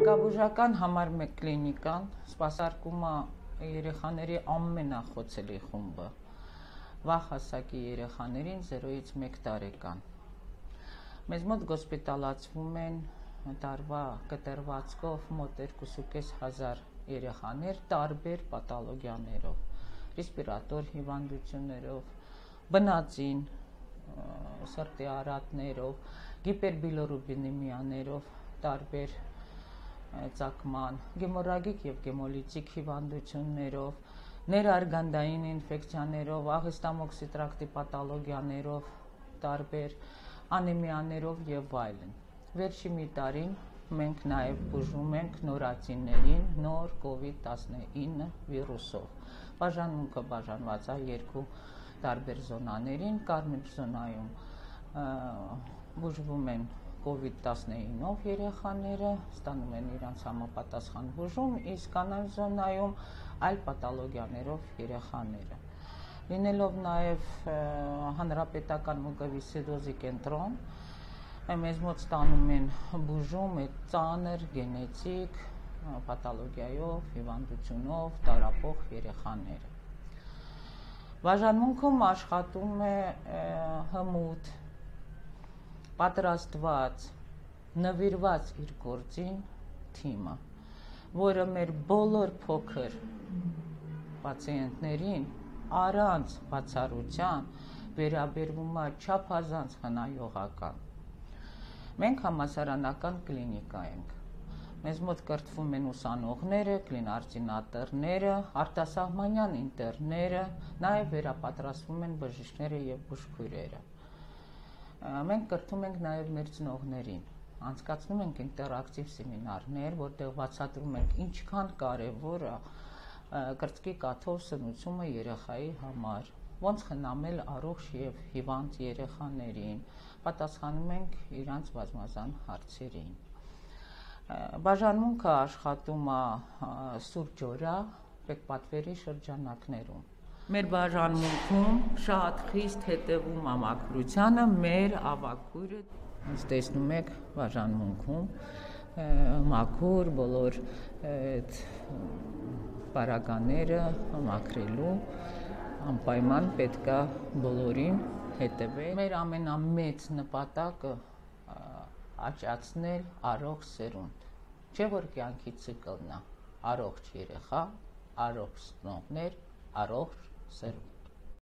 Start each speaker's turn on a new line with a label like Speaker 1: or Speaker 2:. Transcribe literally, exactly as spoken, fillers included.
Speaker 1: Մանկաբուժական համար մեկ կլինիկան սպասարկում է երեխաների ամենախոցելի խումբը, վաղ հասակի երեխաներին զերոյից մեկ տարեկան։ Մեզ մոտ գոսպիտալացվում են տարվա կտրվածքով մոտ երկու հազար երեխաներ տարբեր պաթոլոգիաներով, ռեսպիրատոր հիվանդություններով, բնածին, սրտի արատներով, գիպերբիլիրուբինեմիաներով, տարբեր ծակման, գեմորրագիկ և գեմոլիտիկ հիվանդություններով, ներարգանդային ինֆեկցիաներով, աղեստամոքսի տրակտի պաթոլոգիաներով, տարբեր անեմիաներով և այլն։ Վերջի մի տարին մենք նաև բուժում ենք նորածիններին նոր կովիդ տասնինը վիրուսով։ Բաժանմունքը բաժանված է երկու տարբեր զոնաներին, կարմիր զոնայում բուժվում են կովիդ տասնինով երեխաները, ստանում են իրանց համապատասխան բուժում, իսկ կանաչ զոնայում այլ պաթոլոգիաներով երեխաները։ Լինելով նաև հանրապետական մուկովիսցիդոզի կենտրոն, մեզ մոտ ստանում են բուժում ծանր գենետիկ պաթոլոգիայով, հիվանդությունով տառապող երեխաները։ Բաժանմունքում աշխատում է հմուտ, պատրաստված, նվիրված իր գործին թիմը, որը մեր բոլոր փոքր պացիենտներին առանց բացառության վերաբերվում է չափազանց խնայողական։ Մենք համալսարանական կլինիկա ենք։ Մեզ մոտ կրթվում են ուսանողները, կլինարդինատորները, արտասահմանյան ինտերները, նաև վերապատրաստվում են բժիշկները և բուժքույրերը։ Մենք կրթում ենք նաև մեր ծնողներին, անցկացնում ենք ինտերակտիվ սեմինարներ, որտեղ բացատրում ենք ինչքան կարևոր է կրծքի կաթով սնուցումը երեխայի համար, ոնց խնամել առողջ և հիվանդ երեխաներին, պատասխանում ենք իրանց բազմազան հարցերին։ Բաժանմունքը աշխատում է սուրճօրյա պետպատվերի շրջանակներում։ Մեր բաժանմունքում շատ խիստ հետևում է մաքրությանը մեր ավագ քույրը, ոնց տեսնում եք բաժանմունքում մաքուր բոլոր պարագաները մաքրելու անպայման պետք է բոլորին հետևել։ Մեր ամենամեծ նպատակը աճացնել առողջ սերունդ, չէ՞ որ կյանքի ցիկլն է առողջ երեխա, առողջ ծնողներ, առողջ սերունդ։